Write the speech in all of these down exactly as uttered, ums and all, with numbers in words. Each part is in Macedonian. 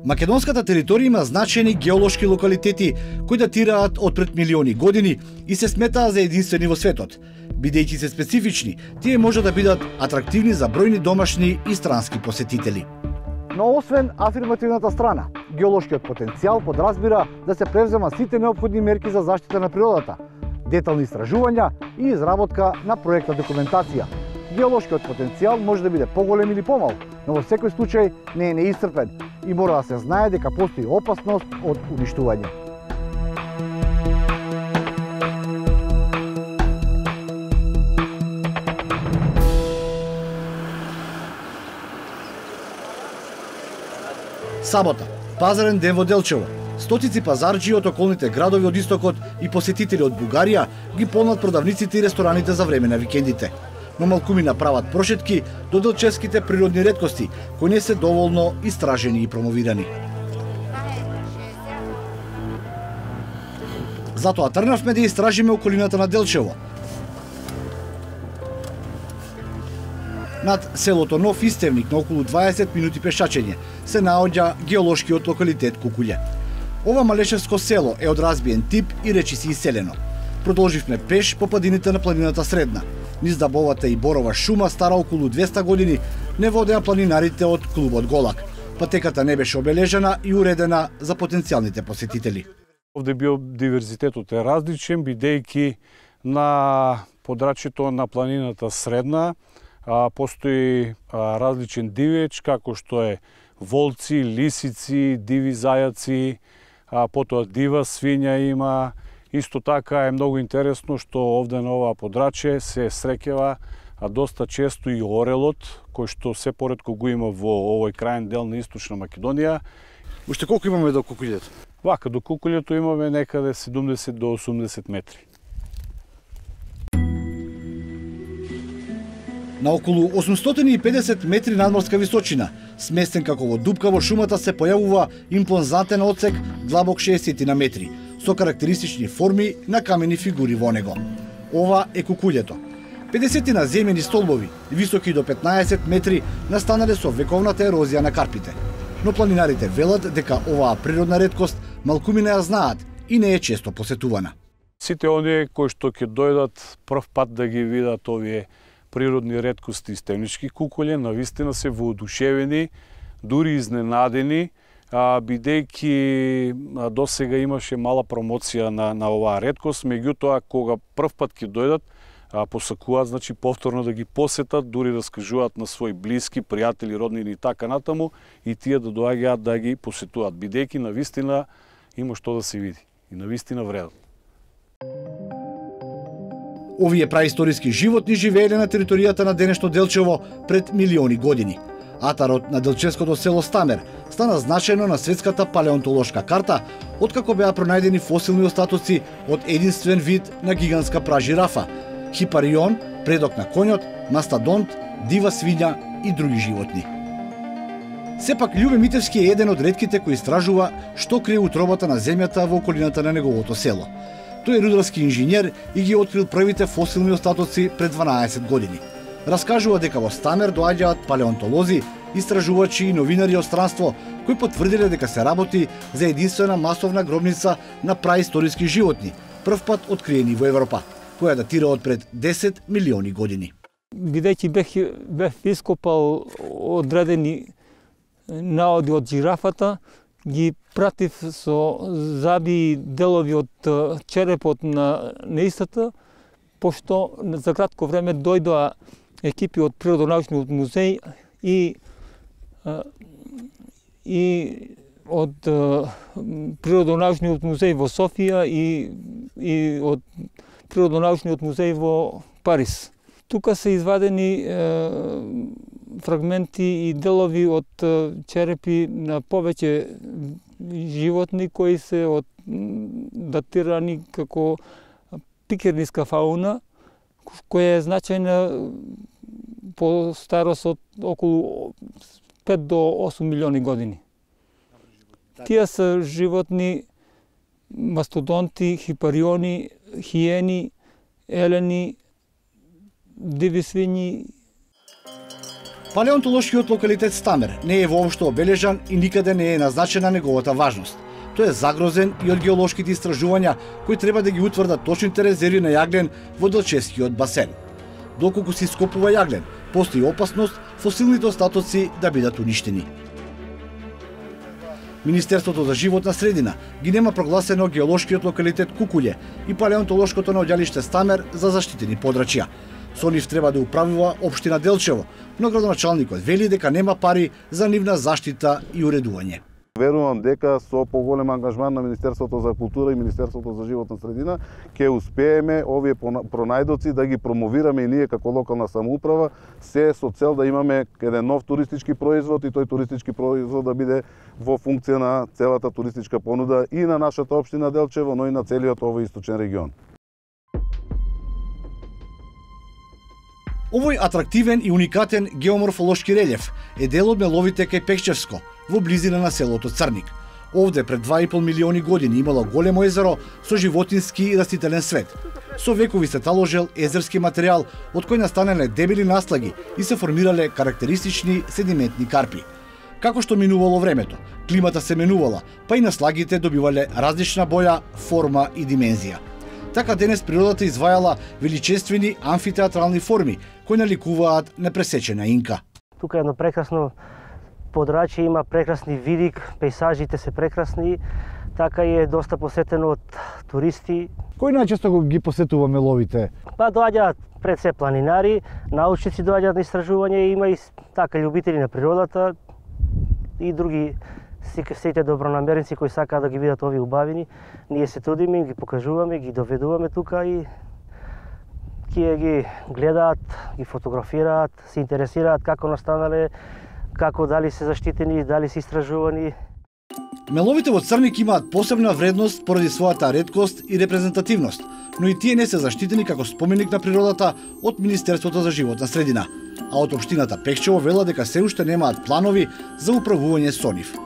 Македонската територија има значајни геолошки локалитети кои датираат од пред милиони години и се сметаат за единствени во светот. Бидејќи се специфични, тие може да бидат атрактивни за бројни домашни и странски посетители. Но освен афирмативната страна, геолошкиот потенцијал подразбира да се превзема сите неопходни мерки за заштита на природата, детални истражувања и изработка на проектна документација. Геолошкиот потенцијал може да биде поголем или помал, но во секој случај не е неисцрпен и мора да се знае дека постои опасност од уништување. Сабота, пазарен ден во Делчево. Стотици пазарџи од околните градови од истокот и посетители од Бугарија ги полнат продавниците и рестораните за време на викендите. Но малкумина прават прошетки до делчевските природни реткости, кои не се доволно истражени и промовирани. Затоа тргнавме да истражиме околината на Делчево. Над селото Нов Истевник, на околу дваесет минути пешачење, се наоѓа геолошкиот локалитет Кукуље. Ова малешевско село е од разбиен тип и речиси иселено. Продолживме пеш по падините на планината Средна. Низ дабовата и борова шума стара околу двеста години не водеа планинарите од клубот Голак. Патеката не беше обележена и уредена за потенцијалните посетители. Овде биодиверзитетот е различен, бидејќи на подрачјето на планината Средна а, постои а, различен дивеч, како што е волци, лисици, диви зајаци, а, потоа дива свиња има. Исто така е многу интересно што овде на ова подрачје се среќава доста често и орелот, кој што се поретко го има во овој крајен дел на Источна Македонија. Уште колку имаме до Кукуљето? Вака, до Кукуљето имаме некаде седумдесет до осумдесет метри. На околу осумстотини и педесет метри надморска височина, сместен како во дупка во шумата, се појавува импозантен одсек длабок шеесет метри, со карактеристични форми на камени фигури во него. Ова е Кукуљето. педесетина земјени столбови, високи до петнаесет метри, настанале со вековната ерозија на карпите. Но планинарите велат дека оваа природна реткост малкумина ја знаат и не е често посетувана. Сите оние кои што ќе дојдат прв пат да ги видат овие природни реткости и стевнички кукуље, навистина се воодушевени, дури изненадени, а, бидејќи досега имаше мала промоција на, на оваа реткост, меѓутоа кога прв пат ќе дојдат, а, посакуваат, значи повторно да ги посетат, дури раскажуваат на своји блиски, пријатели, роднини и така натаму, и тие да доаѓаат да ги посетуваат, бидејќи навистина има што да се види и навистина вредат. Овие праисториски животни живееле на територијата на денешно Делчево пред милиони години. Атарот на делчевското село Стамер стана значајно на светската палеонтолошка карта, откако беа пронајдени фосилни остатоци од единствен вид на гигантска пражирафа, хипарион, предок на коњот, мастадонт, дива свиња и други животни. Сепак Љубе Митевски е еден од ретките кои истражува што крие утробата на земјата во околината на неговото село. Тој е рударски инженер и ги открил првите фосилни остатоци пред дванаесет години. Раскажува дека во Стамер доаѓаат палеонтолози, истражувачи и новинари од странство кои потврдиле дека се работи за единствена масовна гробница на праисториски животни, прв пат откриени во Европа, која датира од пред десет милиони години. Бидејќи бев, бев ископал одредени наоди од жирафата, ги пратив со заби делови од черепот на неистата, пошто за кратко време дојдоа екипи од Природонаучниот музеј и и од Природонаучниот музеј во Софија и и од Природонаучниот музеј во Париз. Тука се извадени е, фрагменти и делови од черепи на повеќе животни кои се од датирани како пикерниска фауна, која е значајна по старост од околу пет до осум милиони години. Тие се животни мастодонти, хипариони, хиени, елени, диви свињи. Палеонтолошкиот локалитет Стамер не е воопшто обележан и никаде не е назначена неговата важност. Тој е загрозен и од геолошките истражувања кои треба да ги утврдат точните резерви на јаглен во Делчевскиот басен. Доколку се ископува јаглен, постои опасност фосилните остатоци да бидат уништени. Министерството за животна средина ги нема прогласено геолошкиот локалитет Кукуље и палеонтолошкото наоѓалиште Стамер за заштитени подрачја. Со нив треба да управува општина Делчево, но градоначалникот вели дека нема пари за нивна заштита и уредување. Верувам дека со поголем ангажман на Министерството за култура и Министерството за животна средина ќе успееме овие пронајдоци да ги промовираме и ние како локална самоуправа, се со цел да имаме еден нов туристички производ и тој туристички производ да биде во функција на целата туристичка понуда и на нашата општина Делчево, но и на целиот овој источен регион. Овој атрактивен и уникатен геоморфолошки релјеф е дел од меловите кај Пекчевско, во близина на селото Црник. Овде пред два и пол милиони години имало големо езеро со животински и растителен свет. Со векови се таложел езерски материјал од кој настанале дебели наслаги и се формирале карактеристични седиментни карпи. Како што минувало времето, климата се менувала, па и наслагите добивале различна боја, форма и димензија. Така денес природата извајала величествени амфитеатрални форми кои наликуваат непресечена инка. Тука е едно прекрасно подрачје, има прекрасни видик, пејзажите се прекрасни, така и е доста посетено од туристи. Кој најчесто ги посетува меловите? Па доаѓаат пред се планинари, научници доаѓаат на истражување, има и така љубители на природата и други сите добронамерници кои сакаат да ги видат овие убавини. Ние се трудиме, ги покажуваме, ги доведуваме тука и тие ги гледаат, ги фотографираат, се интересираат како настанале, како дали се заштитени, дали се истражувани. Меловите во Црник имаат посебна вредност поради својата реткост и репрезентативност, но и тие не се заштитени како споменик на природата од Министерството за животна средина, а од општината Пекчево вела дека се уште немаат планови за управување со нив.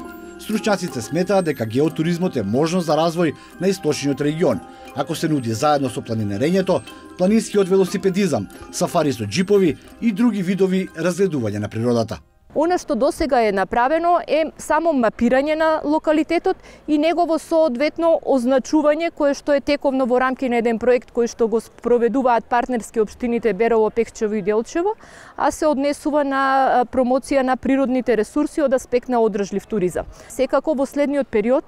Стручњаците сметаат дека геотуризмот е можност за развој на источниот регион, ако се нуди заедно со планинерењето, планинскиот велосипедизам, сафари со џипови и други видови разгледување на природата. Она што досега е направено е само мапирање на локалитетот и негово соодветно означување кое што е тековно во рамки на еден проект кој што го спроведуваат партнерски општините Берово, Пекчево и Делчево, а се однесува на промоција на природните ресурси од аспект на одржлив туризам. Секако во следниот период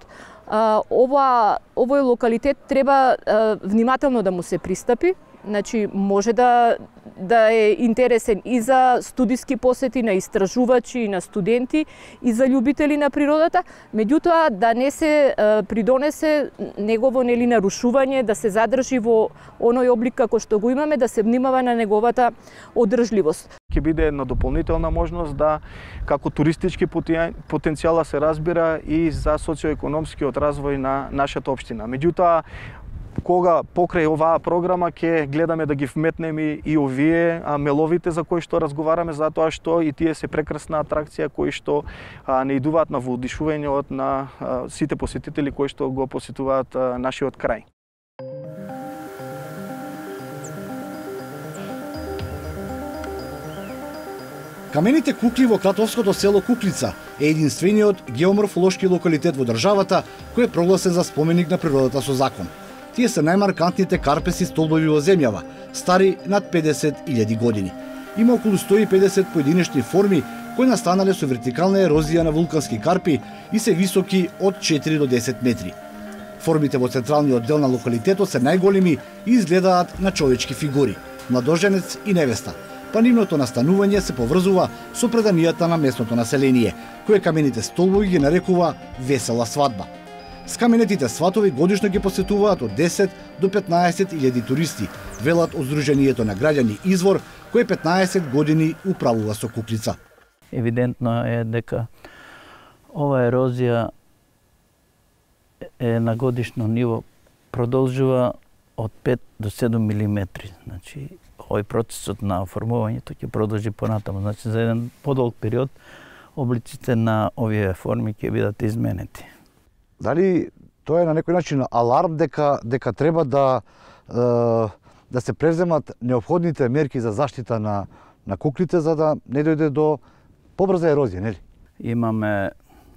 ова овој локалитет треба внимателно да му се пристапи. Значи може да да е интересен и за студиски посети на истражувачи и на студенти и за љубители на природата, меѓутоа да не се е, придонесе негово нели нарушување, да се задржи во оној облик како што го имаме, да се внимава на неговата одржливост. Ќе биде една дополнителна можност да како туристички потенцијала се разбира и за социоекономскиот развој на нашата општина. Меѓутоа кога покрај оваа програма ќе гледаме да ги вметнеме и овие меловите за кои што разговараме, затоа што и тие се прекрасна атракција кои што а, не идуваат на воодушување од на а, сите посетители кои што го посетуваат а, нашиот крај. Камените кукли во кратовското село Куклица е единствениот геоморфолошки локалитет во државата кој е прогласен за споменик на природата со закон. Тие се најмаркантните карпеси столбови во земјава, стари над педесет илјади години. Има околу сто и педесет поединечни форми кои настанале со вертикална ерозија на вулкански карпи и се високи од четири до десет метри. Формите во централниот дел на локалитетот се најголеми и изгледаат на човечки фигури, младоженец и невеста, па нивното настанување се поврзува со преданијата на местното население, кое камените столбови ги нарекува весела свадба. Скаменетите сватови годишно ги посетуваат од десет до петнаесет илјади туристи, велат од Сдруженијето на граѓани Извор, кој петнаесет години управува со Куклица. Евидентно е дека ова ерозија е на годишно ниво продолжува од пет до седум милиметри. Значи, овој процесот на формувањето ќе продолжи понатаму. Значи, за еден подолг период облиците на овие форми ќе бидат изменети. Дали тоа е на некој начин аларм дека дека треба да е, да се преземат неопходните мерки за заштита на на куклите за да не дојде до побрза ерозија, нели? Имаме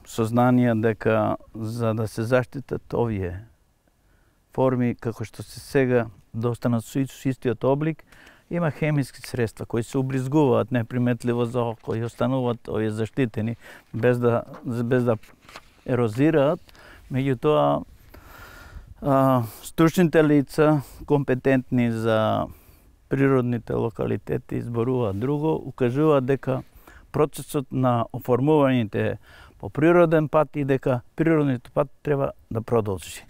сознание дека за да се заштитат овие форми како што се сега да останат со истиот облик, има хемиски средства кои се убризгуваат неприметливо за око и остануваат овие заштитени без да без да ерозираат. Меѓутоа стручните лица компетентни за природните локалитети изборуваат друго, укажуваат дека процесот на оформувањето по природен пат и дека природниот пат треба да продолжи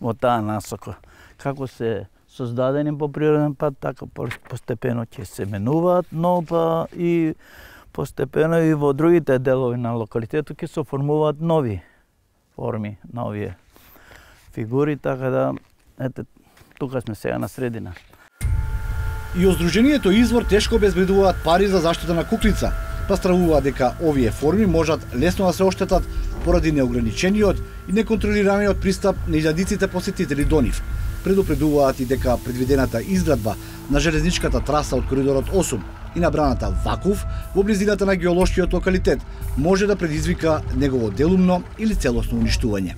во таа насока. Како се создадени по природен пат, така постепено ќе се менуваат, но па и постепено и во другите делови на локалитетот ќе се оформуваат нови форми, нови фигури, така да ете тука сме сега на средина. И од Сдруженијето Извор тешко обезбедуваат пари за заштита на куклица, па стравуваат дека овие форми можат лесно да се оштетат поради неограничениот и неконтролираниот пристап на илјадиците посетители до нив. Предупредуваат и дека предвидената изградба на железничката траса од коридорот осум и набраната Вакув во близината на геолошкиот локалитет може да предизвика негово делумно или целосно уништување.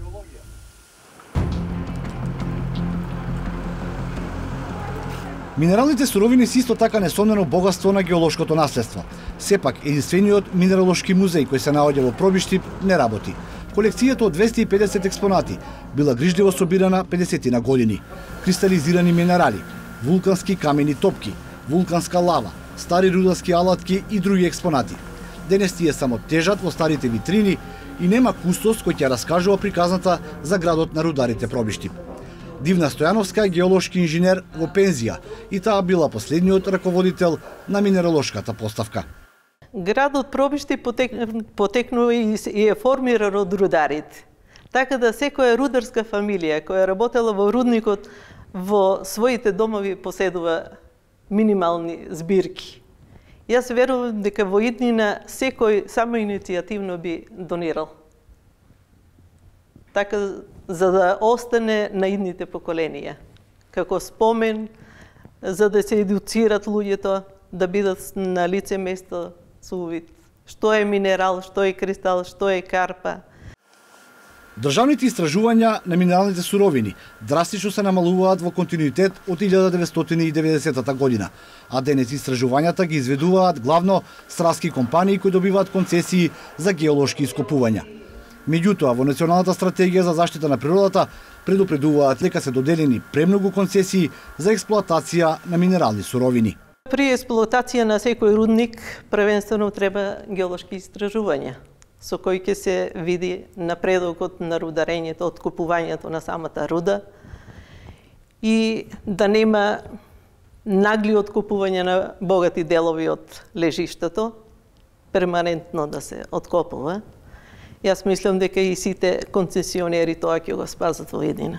Минералните суровини се исто така несомнено богатство на геолошкото наследство. Сепак, единствениот минералошки музеј кој се наоѓа во Пробиштип не работи. Колекцијата од двесте и педесет експонати била грижливо собирана педесетина години. Кристализирани минерали, вулкански камени топки, вулканска лава, стари рударски алатки и други експонати. Денес тие само тежат во старите витрини и нема кустос кој ќе раскажува приказната за градот на рударите Пробиштип. Дивна Стојановска е геолошки инженер во пензија и таа била последниот раководител на минералошката поставка. Градот Пробиштип потекнува и е формиран од рударите. Така да секоја рударска фамилија која работела во рудникот во своите домови поседува минимални збирки. Јас верувам дека во иднина секој само иницијативно би донирал. Така за да остане на идните поколенија. Како спомен, за да се едуцират луѓето, да бидат на лице место со увид. Што е минерал, што е кристал, што е карпа. Државните истражувања на минералните суровини драстично се намалуваат во континуитет од илјада деветстотини и деветдесетата година, а денес истражувањата ги изведуваат главно стратски компании кои добиваат концесии за геолошки ископувања. Меѓутоа, во Националната стратегија за заштита на природата предупредуваат дека се доделени премногу концесии за експлоатација на минерални суровини. При експлоатација на секој рудник првенствено треба геолошки истражувања, со кои ќе се види напредокот на рударењето, откупувањето на самата руда и да нема нагли откупување на богати делови од лежиштето, перманентно да се откопува. Јас мислам дека и сите концесионери тоа ќе го спазат во едина.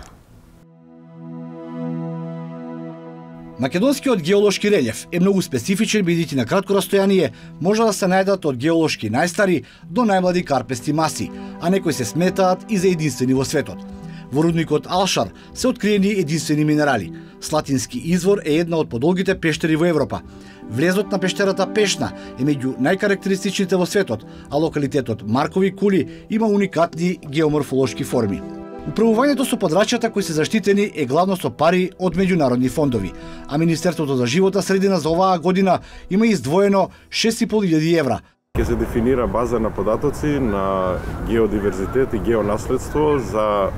Македонскиот геолошки релјеф е многу специфичен, бидејќи на кратко растојание може да се најдат од геолошки најстари до најмлади карпести маси, а некои се сметаат и за единствени во светот. Во рудникот Алшар се откриени единствени минерали. Слатински извор е една од подолгите пештери во Европа. Влезот на пештерата Пешна е меѓу најкарактеристичните во светот, а локалитетот Маркови кули има уникатни геоморфолошки форми. Управувањето со подрачјата кои се заштитени е главно со пари од меѓународни фондови, а Министерството за животна средина за оваа година има издвоено шест и пол илјади евра. Ќе се дефинира база на податоци на геодиверзитет и геонаследство за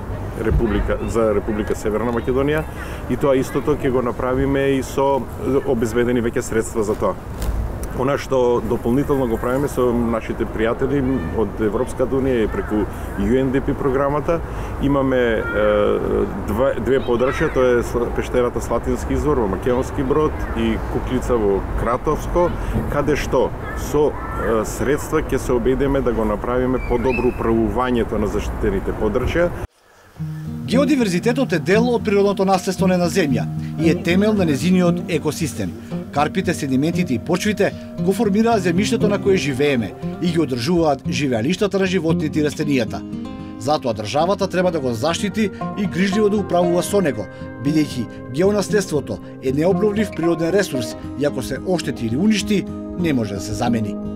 Република за Република Северна Македонија и тоа истото ќе го направиме и со обезбедени веќе средства за тоа. Она што дополнително го правиме со нашите пријатели од Европската унија и преку Ю Ен Ди Пи програмата, имаме е, две, две подрачја, тоа е пештерата Слатински извор во Македонски Брод и Куклица во Кратовско, каде што со е, средства ќе се обедеме да го направиме подобро управувањето на заштитените подрачја. Геодиверзитетот е дел од природното наследство на една земја и е темел на незиниот екосистем. Карпите, седиментите и почвите го формираат земјиштето на кое живееме и ги одржуваат живеалиштата на животните и растенијата. Затоа државата треба да го заштити и грижливо да управува со него, бидејќи геонаследството е необновлив природен ресурс и ако се оштети или уништи, не може да се замени.